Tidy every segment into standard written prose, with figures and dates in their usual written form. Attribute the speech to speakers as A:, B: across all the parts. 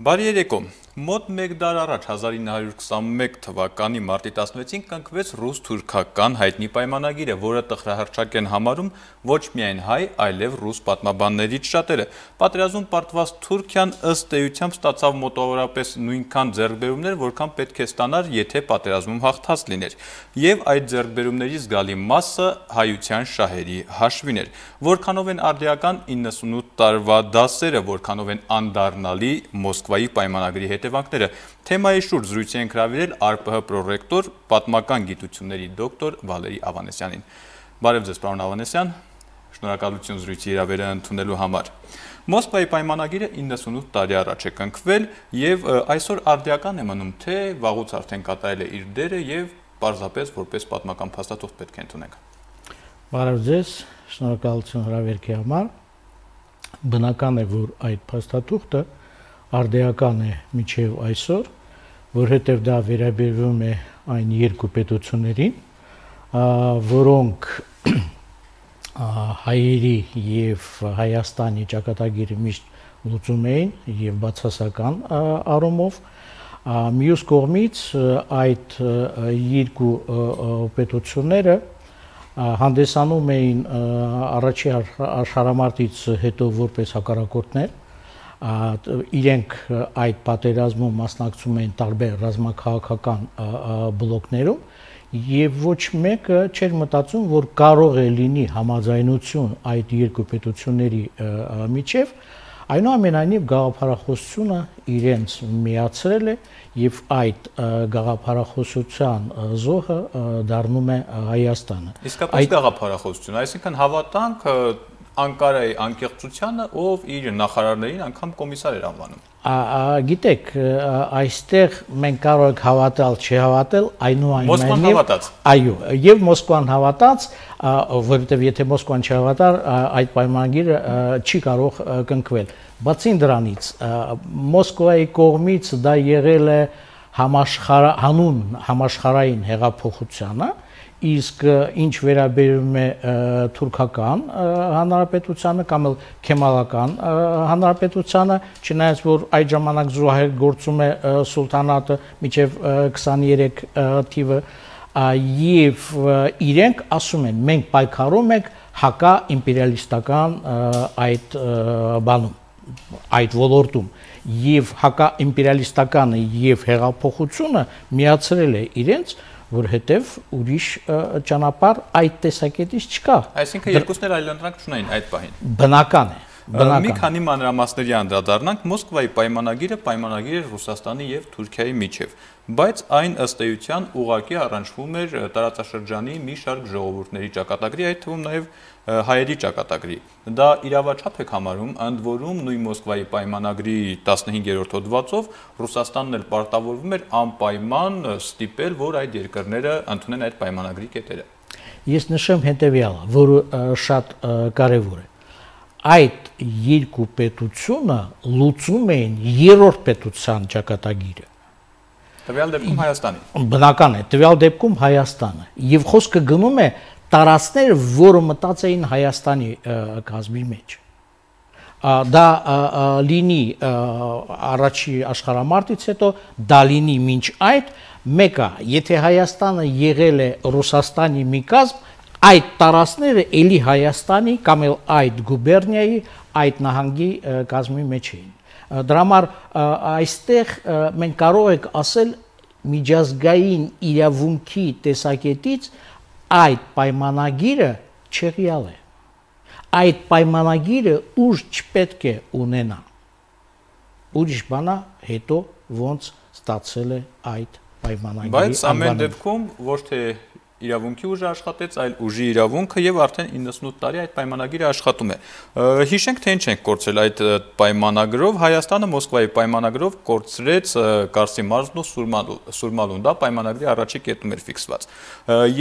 A: Բարի երեկո, մոտ մեկ դար առաջ 1921 թվականի մարտի 16-ին կնքվեց ռուս-թուրքական հայտնի պայմանագիրը, որը տխրահռչակ են համարում ոչ միայն հայ, այլև ռուս պատմաբաններից շատերը։ Պատերազմում պարտված Թուրքիան ըստ էությամբ ստացավ մոտավորապես նույնքան ձեռքբերումներ, որքան պետք է ստանար, եթե պատերազմում հաղթած լիներ։ Եվ այդ ձեռքբերումների զգալի մասը հայության շահերի հաշվին էր։ Որքանով են արդիական 98 տարվա դասերը, որքանով են անդառնալի Մոսկվայի պայմանագրի հետևանքները։ Թեմայի շուրջ զրույցի ենք հրավիրել ԱՌՊՀ պրոռեկտոր, պատմական գիտությունների դոկտոր Վալերի Ավանեսյանին։ Բարև ձեզ, պարոն Ավանեսյան, շնորհակալություն զրույցի հրավերը ընդունելու համար։ Մոսկվայի պայմանագիրը 98 տարի առաջ է կնքվել եւ այսօր արդիական է մնում, թե վաղուց արդեն կատարել է իր դերը եւ պարզապես որպես պատմական փաստաթուղթ պետք է ընդունենք։
B: Բարև ձեզ, շնորհակալություն հրավերքի համար։ Բնական է, որ այդ փաստաթուղթը արդիական է մինչև այսօր, որովհետև դա վերաբերվում է այն երկու պետություններին, որոնք հայերի եւ Հայաստանի ճակատագիրը միշտ լուծում էին եւ բացասական առումով, մյուս կողմից այդ երկու պետությունները հանդեսանում էին առաջի աշխարհամարտից հետո որպես հակառակորդներ, իրենք այդ պատերազմում մասնակցում էին տարբեր ռազմաքաղաքական բլոկներում եւ ոչ մեկը չէր մտածում, որ կարող է լինի համաձայնություն այդ երկու պետությունների միջև, այնուամենայնիվ գաղափարախոսությունը իրենց միացրել է եւ այդ գաղափարախոսության զոհը դառնում է Հայաստանը։
A: Իսկապես գաղափարախոսություն, այսինքն հավատանք Անկարայի անկեղծությանը, ով իր նախարարներին անգամ կոմիսար էր անվանում։
B: Գիտեք, այստեղ մենք կարող ենք հավատալ, չհավատալ,
A: Մոսկվան հավատաց։
B: Այո, եւ Մոսկվան հավատաց, որովհետեւ եթե Մոսկվան չհավատար, այդ պայմանագիրը չի կարող կնքվել։ Բացի դրանից, Մոսկվայի կողմից դա եղել է հանուն համաշխարհային հեղափոխությանը, իսկ ինչ վերաբերում է թուրքական հանրապետությանը կամ քեմալական հանրապետությանը, չնայած որ այդ ժամանակ զուհեր գործում է սուլտանատը մինչև 23 թիվը, եւ իրենք ասում են, մենք պայքարում ենք հակա իմպերիալիստական այդ բանում, այդ ոլորտում, եւ հակա իմպերիալիստականը եւ հեղափոխությունը միացրել է իրենց, որովհետև ուրիշ ճանապարհ այդ տեսակետից չկա։
A: Այսինքն երկուսն էլ այլընտրանք չունեն այդ պահին։
B: Բնական է։
A: Մի քանի մանրամասների անդրադառնանք, Մոսկվայի պայմանագիրը պայմանագիր էր Ռուսաստանի եւ Թուրքիայի միջև, բայց այն ըստ էության ուղղակի առնչվում էր տարածաշրջանի մի շարք ժողովուրդների ճակատագրի, այդ թվում նաեւ հայերի ճակատագրի։ Դա իրավաչափ է համարում, ընդ որում նույն Մոսկվայի պայմանագրի 15-րդ հոդվածով Ռուսաստանն էլ պարտավորվում էր անպայման ստիպել, որ այդ երկրները ընդունեն այդ պայմանագրի կետերը։
B: Ես նշեմ հետեւյալը, որը շատ կարեւոր է։ Այդ երկու պետությունը լուծում էին երրորդ պետության ճակատագիրը։
A: Տվյալ դեպքում Հայաստանի։
B: Բնական է, տվյալ դեպքում Հայաստանը։ Եվ խոսքը գնում է տարածքները, որը մտած էին Հայաստանի կազմի մեջ։ Դա լինի առաջի աշխարհամարտից հետո, դա լինի մինչ այդ, մեկը, եթե Հայաստանը եղել է Ռուսաստանի մի կազմ, այդ տարածքները էլի Հայաստանի կամ էլ այդ գուբերնիայի, այդ նահանգի կազմի մեջ էին։ Դրա համար այստեղ մենք կարող ենք ասել միջազգային իրավունքի տեսակետից այդ պայմանագիրը չեղյալ է։ Այդ պայմանագիրը ուժ չպետք է ունենա։ Ուրիշ բանա հետո ոնց ստացել է այդ պայմանագիրի անվանումը։
A: Բայց ամեն դեպքում ոչ թե իրավունքի ուժը աշխատեց, այլ ուժի իրավունքը եւ արդեն 98 տարի այդ պայմանագիրը աշխատում է։ Հիշենք, թե ինչ ենք կորցրել այդ պայմանագրով, Հայաստանը Մոսկվայի պայմանագրով կորցրեց Կարսի մարզն ու Սուրմալուն, դա պայմանագրի առաջի կետում էր ֆիքսված։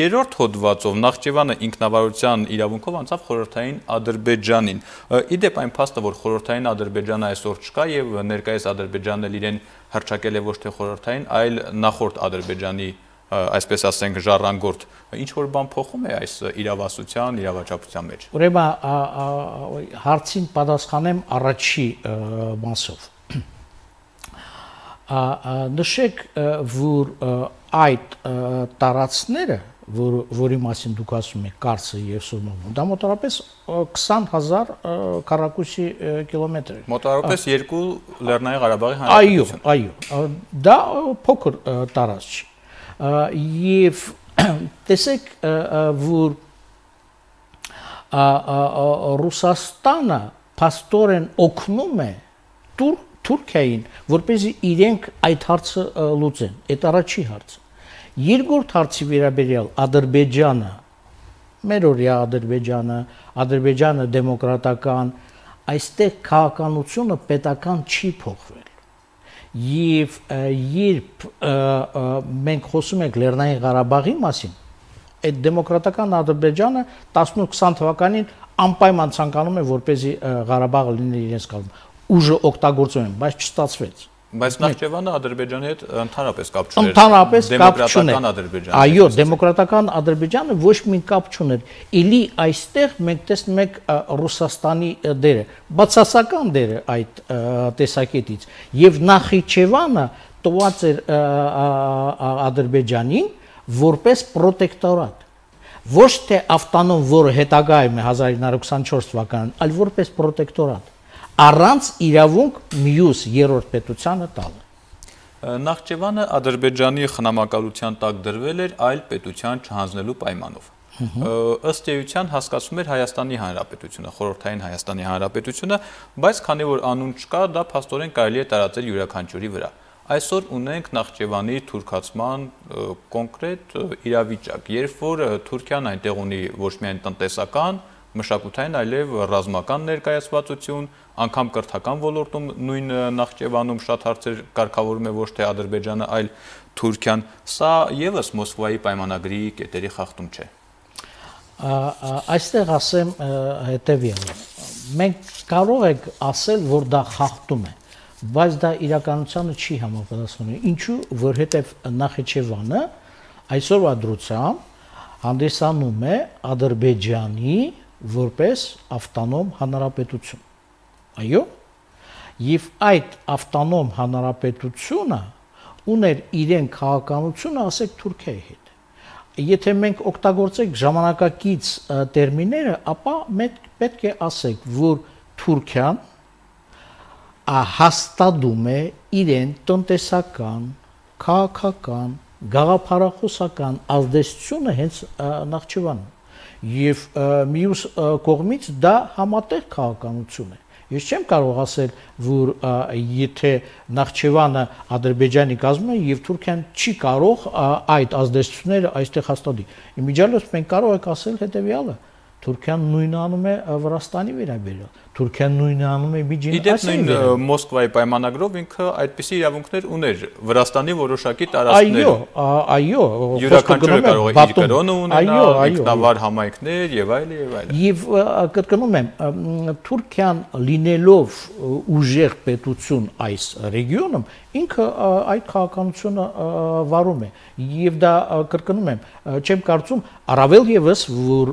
A: Երրորդ հոդվածով Նախճեվանը ինքնավարության իրավունքով անցավ խորհրդային Ադրբեջանին։ Իդեպ այն փաստը, որ խորհրդային Ադրբեջանը այսօր չկա եւ ներկայիս Ադրբեջանն էլ իրեն հռչակել է ոչ թե խորհրդային, այլ նախորդ Ադրբեջանի այսպես ասենք ժառանգորդ, ինչ որ բան փոխում է այս իրավասության, իրավաչափության մեջ։
B: Ուրեմն հարցին պատասխանեմ առաջի մասով։ Նշեք, որ այդ տարածքները, որի մասին դուք ասում եք Կարսը եւ Սուրմամուն, դա մոտավորապես 20,000 քառակուսի կիլոմետր է։
A: Մոտավորապես 2 Լեռնային Ղարաբաղի հանրապետություն։
B: Այո, դա փոքր տարածք չի։ Եվ տեսեք, որ Ռուսաստանը փաստորեն օգնում է Թուրքիային, որպեսզի իրենք այդ հարցը լուծեն։ Այդ առաջի հարցը։ Երկրորդ հարցի վերաբերյալ Ադրբեջանը, մերօրյա Ադրբեջանը դեմոկրատական, այստեղ քաղաքականությունը պետական չի փոխվել։ Եվ երբ մենք խոսում ենք Լեռնային Ղարաբաղի մասին, այդ դեմոկրատական Ադրբեջանը 18-20 թվականին անպայման ցանկանում է, որպեսզի Ղարաբաղը լինի իրենց կազմում։ Ուժը օգտագործում են, բայց չստացվեց։
A: Բայց Նախճեվանը Ադրբեջանի հետ ընդհանրապես կապ չուներ։
B: Ընդհանրապես կապ չուներ։
A: Դեմոկրատական Ադրբեջանը։
B: Այո, դեմոկրատական Ադրբեջանը ոչ մի կապ չուներ։ Էլի այստեղ մենք տեսնում ենք Ռուսաստանի դերը, բացասական դերը այդ տեսակետից։ Եվ Նախիջևանը տված էր Ադրբեջանին որպես պրոտեկտորատ։ Ոչ թե ավտոնոմ, որը հետագայում է 1924 թվականին, այլ որպես պրոտեկտորատ։ Առանց իրավունք մյուս երրորդ պետությանը տալը։
A: Նախճեվանը Ադրբեջանի խնամակալության տակ դրվել էր այլ պետության չհանձնելու պայմանով։ Ըստ էության հասկացում էր Հայաստանի Հանրապետությունը, խորհրդային Հայաստանի Հանրապետությունը, բայց քանի որ անուն չկա, դա փաստորեն կարելի է տարածել յուրաքանչյուրի վրա։ Այսօր ունենք Նախճեվանի թուրքացման կոնկրետ իրավիճակ, երբ որ Թուրքիան այնտեղ ունի ոչ միայն տնտեսական, մշակութային, այլև ռազմական ներկայացվածություն, անգամ կրթական ոլորտում նույն Նախճեվանում շատ հարցեր կարգավորում է ոչ թե Ադրբեջանը, այլ Թուրքիան։ Սա եւս Մոսկվայի պայմանագրի կետերի խախտում չէ։
B: Այստեղ ասեմ հետևյալը։ Մենք կարող ենք ասել, որ դա խախտում է, բայց դա իրականությանը չի համապատասխանում։ Ինչու, որովհետև Նախիջևանը այսօրվա դրությամբ հանդիսանում է Ադրբեջանի որպես ավտոնոմ հանրապետություն։ Այո, եւ այդ ավտոնոմ հանրապետությունը ուներ իրեն քաղաքականությունը, ասեք Թուրքիայի հետ։ Եթե մենք օգտագործենք ժամանակակից տերմինները, ապա մենք պետք է ասենք, որ Թուրքիան հաստատում է իրեն տնտեսական, քաղաքական, գաղափարախոսական ազդեցությունը հենց Նախճեվանում։ Եվ մյուս կողմից դա համատեղ քաղաքականություն է։ Ես չեմ կարող ասել, որ եթե Նախճեվանը Ադրբեջանի կազմում է եւ Թուրքիան չի կարող այդ ազդեցությունները այստեղ հաստատի։ Իմիջիալոց մենք կարող ենք ասել հետեւյալը. Թուրքիան նույնը անում է Վրաստանի վերաբերյալ, Թուրքիան նույնը անում է Միջին Ասիայի վերաբերյալ։
A: Մոսկվայի պայմանագրով ինքը այդպիսի իրավունքներ ուներ Վրաստանի որոշակի տարածքներում։
B: Այո,
A: յուրաքանչյուրը կարող է իր կրոնը ունենալ, ինքնավար համայնքներ եւ այլն եւ այլն։
B: Եվ կրկնում եմ, Թուրքիան լինելով ուժեղ պետություն այս ռեգիոնում, ինքը այդ քաղաքականությունը վարում է։ Եվ դա կրկնում եմ, չեմ կարծում, առավել եւս որ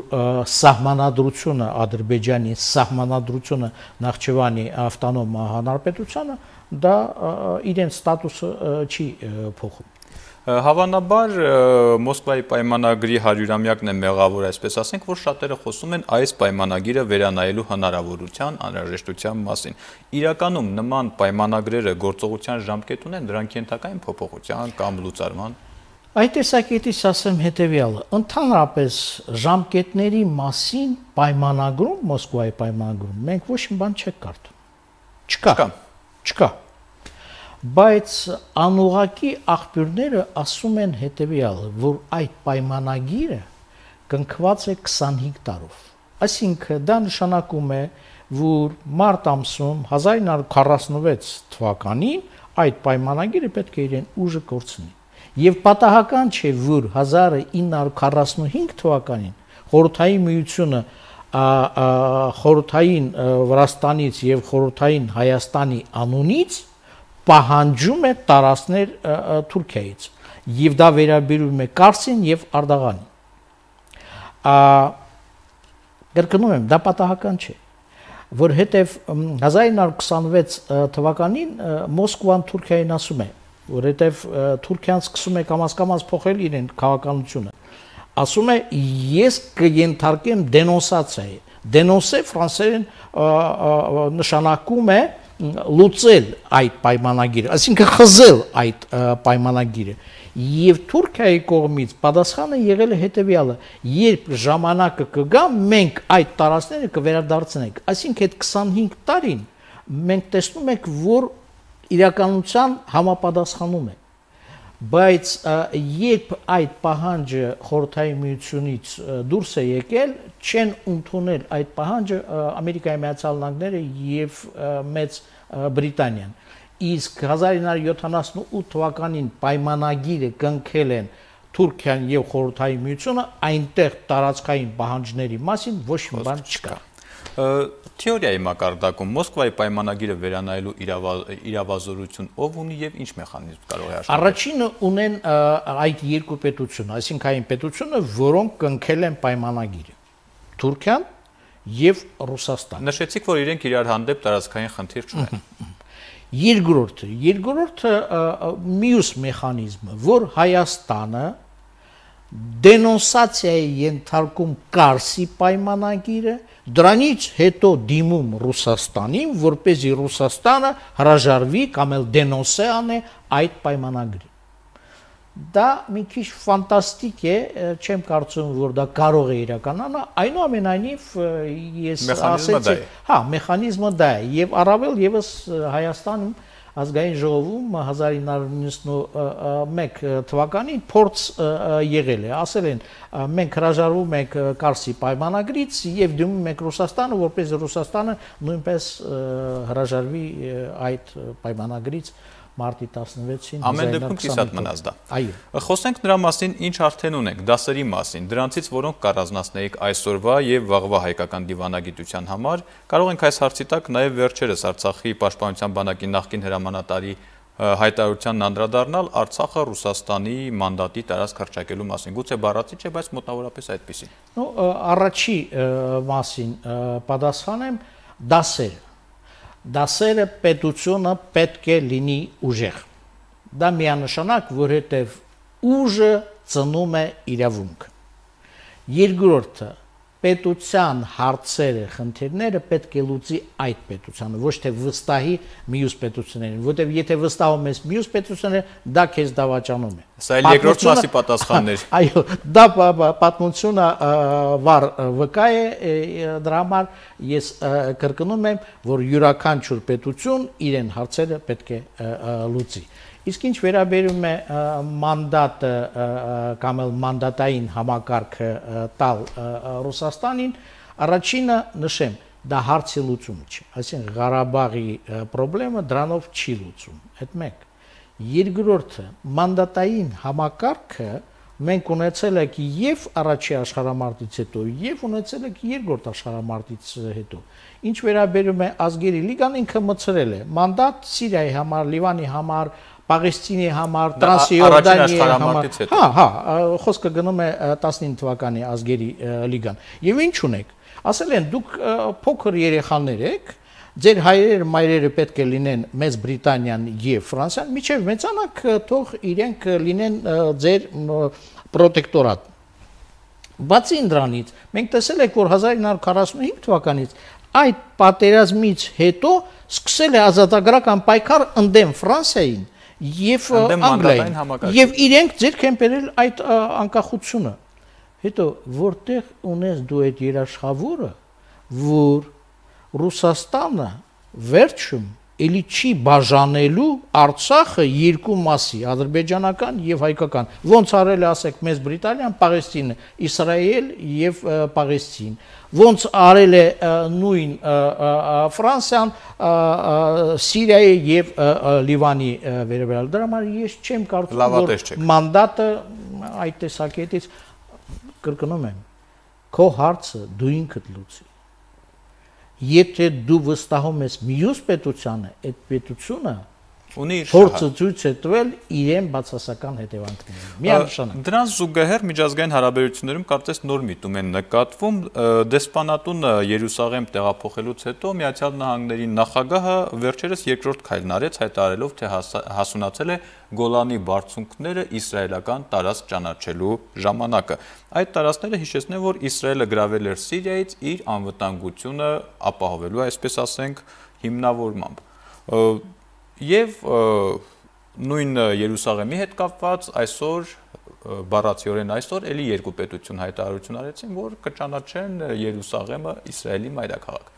B: սահմանադրությունը Ադրբեջանի սահմանադրությունը Նախճեվանի ավտոնոմ հանրապետությանը դա իրեն ստատուսը չի փոխում։
A: Հավանաբար Մոսկվայի պայմանագրի 100-ամյակն է մեղավոր, այսպես ասենք, որ շատերը խոսում են այս պայմանագիրը վերանայելու հնարավորության, անհրաժեշտության մասին։ Իրականում նման պայմանագրերը գործողության ժամկետ ունեն, դրանք ենթակա են փոփոխության կամ լուծարման։
B: Այդ տեսակետից ասեմ հետևյալը. ընդհանրապես ժամկետների մասին պայմանագրում, Մոսկվայի պայմանագրում մենք ոչ մի բան չենք կարդում։ Չկա։ Բայց անուղակի աղբյուրները ասում են հետևյալը, որ այդ պայմանագիրը կնքված է 25 տարով։ Այսինքն դա նշանակում է, որ մարտ ամսում 1946 թվականին այդ պայմանագիրը պետք է իրեն ուժը կորցնի։ Եվ պատահական չէ, որ 1945 թվականին Խորհրդային Միությունը խորհրդային Վրաստանից եւ խորհրդային Հայաստանի անունից պահանջում է տարածքներ Թուրքիայից եւ դա վերաբերում է Կարսին եւ Արդաղանին։ Կրկնում եմ, դա պատահական չէ, որովհետեւ 1926 թվականին Մոսկվան Թուրքիային ասում է. որովհետև Թուրքիան սկսում է կամաց փոխել իրեն քաղաքականությունը։ Ասում է ես կենթարկեմ դենոնսացիայի։ Դենոնսե ֆրանսերեն նշանակում է լուծել այդ պայմանագիրը, այսինքն խզել այդ պայմանագիրը։ Եվ Թուրքիայի կողմից պատասխանը եղել է հետևյալը. երբ ժամանակը կգա, մենք այդ տարածքները կվերադարձնենք։ Այսինքն այդ 25 տարին մենք տեսնում ենք, որ իրականության համապատասխանում է։ Բայց երբ այդ պահանջը Խորհրդային Միությունից դուրս է եկել, չեն ընդունել այդ պահանջը Ամերիկայի Միացյալ Նահանգները եւ Մեծ Բրիտանիան։ Իսկ 1978 թվականին պայմանագիրը կնքել են Թուրքիան եւ Խորհրդային Միությունը, այնտեղ տարածքային պահանջների մասին ոչ մի բան չկա։
A: Թեորիայի մակարդակում Մոսկվայի պայմանագիրը վերանայելու իրավազորություն ով ունի եւ ինչ մեխանիզմ կարող է աշխատել։
B: Առաջինը ունեն այդ երկու պետությունը, այսինքն այն պետությունը, որոնք կնքել են պայմանագիրը՝ Թուրքիան եւ Ռուսաստանը։
A: Նշեցիք, որ իրենք իրար հանդեպ տարածքային խնդիր չունեն։
B: Երկրորդը մյուս մեխանիզմը, որ Հայաստանը դենոնսացիայի ենթարկում Կարսի պայմանագիրը, դրանից հետո դիմում Ռուսաստանին, որպեսզի Ռուսաստանը հրաժարվի կամ էլ դենոնսե անե այդ պայմանագրին։ Դա մի քիչ ֆանտաստիկ է, չեմ կարծում, որ դա կարող է իրականանալ, այնուամենայնիվ ես ասեցի, հա, մեխանիզմը դա է, եւ առավել եւս Հայաստանում Ազգային ժողովում 1991 թվականին փորձ եղել է, ասել են մենք հրաժարվում ենք Կարսի պայմանագրից եւ դիմում ենք Ռուսաստանը, որպես Ռուսաստանը նույնպես հրաժարվի այդ պայմանագրից մարտի 16-ին։
A: Ամեն դեպքում կիսատ մնաց դա։
B: Այո։
A: Խոսենք նրա մասին, ինչ արդեն ունենք, դասերի մասին, դրանցից որոնք կառանձնացնեիք այսօրվա եւ վաղվա հայկական դիվանագիտության համար, կարող ենք այս հարցի տակ նաեւ վերջերս Արցախի պաշտպանության բանակի նախկին հրամանատարի հայտարարությանն անդրադառնալ Արցախը Ռուսաստանի մանդատի տարածք հռչակելու մասին։ Գուցե բառացի չէ, բայց մոտավորապես այդպեսին։
B: Առաջի մասին պատասխանեմ դասերը պետությունը պետք է լինի ուժեղ։ Դա միանշանակ, որովհետև ուժը ծնում է իրավունք։ Երկրորդը պետության հարցերը, խնդիրները պետք է լուծի այդ պետությանը, ոչ թե վստահի մյուս պետություններին, որտեղ եթե վստահում ես մյուս պետությունները, դա քեզ դավաճանում է։
A: Սա էլ երկրորդ մասի պատասխաններ։
B: Այո, դա պատմությունը վառ վկա է, դրա համար ես կրկնում եմ, որ յուրաքանչյուր պետություն իրեն հարցերը պետք է լուծի։ Իսկ ինչ վերաբերում է մանդատը կամ էլ մանդատային համակարգը տալ Ռուսաստանին, առաջինը նշեմ, դա հարցի լուծումը չէ, այսինքն Ղարաբաղի խնդրը դրանով չի լուծում, այդ մեկ։ Երկրորդը մանդատային համակարգը մենք ունեցել ենք եւ առաջի աշխարհամարտից հետո եւ ունեցել ենք երկրորդ աշխարհամարտից հետո։ Ինչ վերաբերում է ազգերի լիգան, ինքը մցրել է մանդատ Սիրիայի համար, Լիվանի համար, Պաղեստինի համար, Տրանսիորդանիայի համար։ Հա, խոսքը գնում է 19 թվականի ազգերի լիգան։ Եվ ինչ ունեք։ Ասել են դուք փոքր երեխաներ եք, ձեր հայրերը, մայրերը պետք է լինեն Մեծ Բրիտանիան եւ Ֆրանսիան, միջև մեծանաք թող իրենք լինեն ձեր պրոտեկտորատ։ Բացի դրանից, մենք տեսել ենք, որ 1945 թվականից այդ պատերազմից հետո սկսել է ազատագրական պայքար ընդդեմ Ֆրանսիային եւ Անգլիային, եւ իրենք ձեռք են բերել այդ անկախությունը։ Հետո որտեղ ունես դու այդ երաշխավորը, որ Ռուսաստանը վերջում էլի չի բաժանելու Արցախը երկու մասի, ադրբեջանական եւ հայկական։ Ոնց արել է, ասեք, Մեծ Բրիտանիան, Պաղեստինը, Իսրայել եւ Պաղեստին։ Ոնց արել է նույն Ֆրանսիան, Սիրիայի եւ Լիվանի վերաբերյալ։ Դրա համար ես չեմ կարծում, որ մանդատը այդ տեսակետից, կրկնում եմ, քո հարցը դու ինքդ լուծի։ Եթե դու վստահում ես մյուս պետությանը, այդ պետությունը փորձը ցույց է տվել իրեն բացասական հետևանքները։ Միանշանակ։
A: Դրանց զուգահեռ միջազգային հարաբերություններում կարծես նոր միտում են նկատվում դեսպանատունը Երուսաղեմ տեղափոխելուց հետո Միացյալ Նահանգների նախագահը վերջերս երկրորդ քայլն արեց, հայտարարելով, թե հասունացել է Գոլանի բարձունքները իսրայելական տարածք ճանաչելու ժամանակը։ Այդ տարածքները հիշեցնեն, որ Իսրայելը գրավել էր Սիրիայից իր անվտանգությունը ապահովելու, այսպես ասենք, հիմնավորմամբ։ Եվ նույն Երուսաղեմի հետ կապված այսօր բառացիորեն այսօր էլի երկու պետություն հայտարարություն արեցին, որ կճանաչեն Երուսաղեմը Իսրայելի մայրաքաղաք։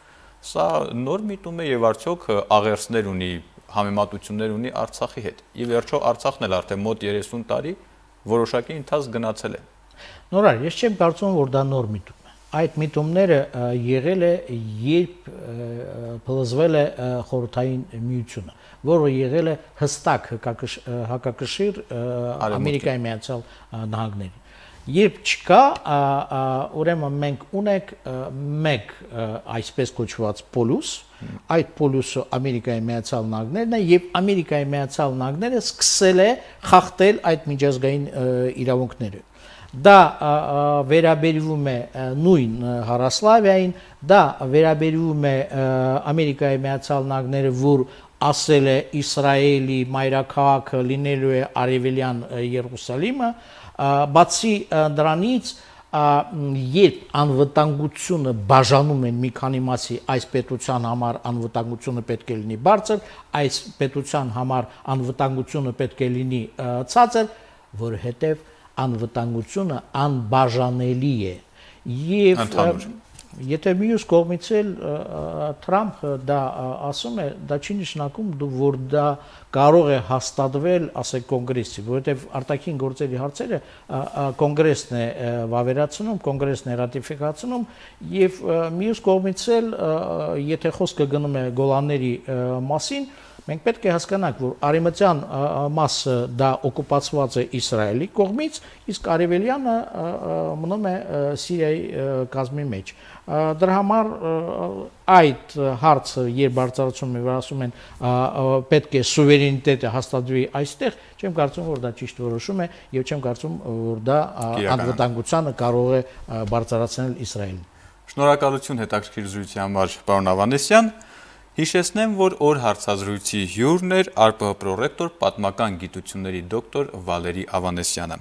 A: Սա նոր միտում է եւ արդյոք աղերսներ ունի, համեմատություններ ունի Արցախի հետ։ Ի վերջո Արցախն էլ արդեն մոտ 30 տարի որոշակի ընթացք գնացել է։
B: Նորար, ես չեմ կարծում, որ դա նոր միտում է։ Այդ միտումները եղել է, երբ փլուզվել է խորհրդային միությունը, որը եղել է հստակ հակակշիռ Ամերիկայի Միացյալ Նահանգներին։ Երբ չկա, ուրեմն մենք ունենք մեկ այսպես կոչված պոլյուս, այդ պոլյուսը Ամերիկայի Միացյալ Նահանգներն է եւ Ամերիկայի Միացյալ Նահանգները սկսել է խախտել այդ միջազգային իրավունքները։ Դա վերաբերվում է նույն Հարասլավիային, դա վերաբերվում է Ամերիկայի Միացյալ Նահանգները, որ ասել է Իսրայելի մայրաքաղաքը լինելու է Արևելյան Երուսաղեմը, բացի դրանից երբ անվտանգությունը բաժանում են մի քանի մասի, այս պետության համար անվտանգությունը պետք է լինի բարձր, այս պետության համար անվտանգությունը պետք է լինի ցածր, որովհետև անվտանգությունը անբաժանելի է։ Եվ եթե մյուս կողմից էլ Թրամփը դա ասում է, դա չի նշանակում, որ դա կարող է հաստատվել, ասեք, կոնգրեսի, որովհետև արտաքին գործերի հարցերը կոնգրեսն է վավերացնում, կոնգրեսն է ռատիֆիկացնում, եւ մյուս կողմից էլ եթե խոսքը գնում է Գոլանների մասին, մենք պետք է հասկանանք, որ արևմտյան մասը դա օկուպացված է Իսրայելի կողմից, իսկ արևելյանը մնում է Սիրիայի կազմի մեջ։ Դրա համար այդ հարցը երբ բարձրացում են, ասում են պետք է սուվերենիտետը հաստատվի այստեղ, չեմ կարծում, որ դա ճիշտ որոշում է եւ չեմ կարծում, որ դա անվտանգությանը կարող է բարձրացնել Իսրայելին։
A: Շնորհակալություն հետաքրքիր զրույցի համար, պարոն Ավանեսյան։ Հիշեցնեմ, որ օր հարցազրույցի հյուրն էր ԱՌՊՀ պրոռեկտոր, պատմական գիտությունների դոկտոր Վալերի Ավանեսյանը։